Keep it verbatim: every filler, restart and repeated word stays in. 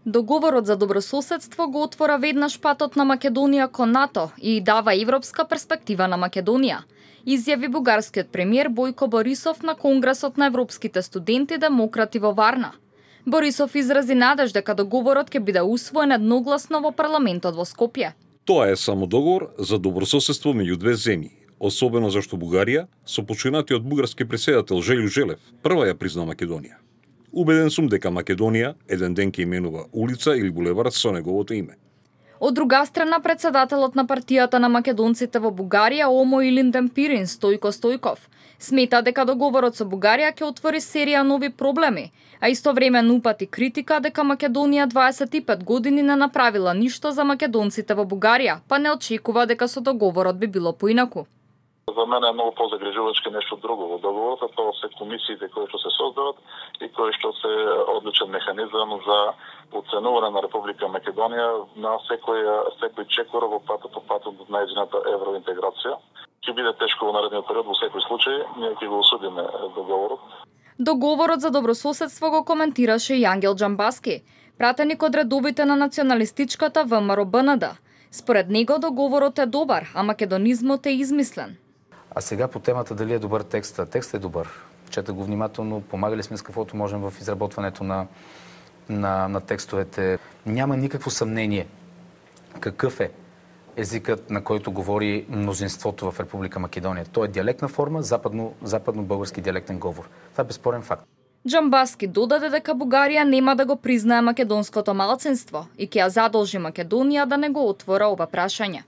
Договорот за добрососедство го отвора веднаш патот на Македонија кон НАТО и дава европска перспектива на Македонија, изјави бугарскиот премиер Бојко Борисов на Конгресот на европските студенти демократи во Варна. Борисов изрази надеж дека договорот ќе биде усвоен едногласно во парламентот во Скопје. Тоа е само договор за добрососедство меѓу две земји, особено зашто Бугарија, со починатиот бугарски претседател Желјо Желев, прва ја призна Македонија. Убеден сум дека Македонија еден ден ќе именува улица или булевард со неговото име. Од друга страна, председателот на партијата на македонците во Бугарија, Омо Илинден Пирин, Стојко Стојков, смета дека договорот со Бугарија ќе отвори серија нови проблеми, а истовремено упати критика дека Македонија дваесет и пет години не направила ништо за македонците во Бугарија, па не очекува дека со договорот би било поинаку. За мене е многу позагрижувачки нешто друго во договорот, а тоа се комисиите кои што се создават и кои што се одличен механизам за оценување на Република Македонија на секој секој чекор во патот по патот на нејзината евроинтеграција. Ќе биде тешко во наредниот период во секој случај, ние ќе го осудиме договорот. Договорот за добрососедство го коментираше и Ангел Џамбаски, пратеник од редовите на националистичката ВМРО Б Н Д. Според него договорот е добар, а македонизмот е измислен. А сега по темата дали е добър текста. Текстът е добър. Чета го внимателно, помагали сме с каквото можем в изработването на, на, на текстовете. Няма никакво съмнение какъв е езикът, на който говори мнозинството в Република Македония. Той е диалектна форма, западно, западно-български диалектен говор. Това е безспорен факт. Џамбаски додаде дека Бугарија нема да го признае македонското малцинство и ќе ја задолжи Македонија да не го отвора ова прашање.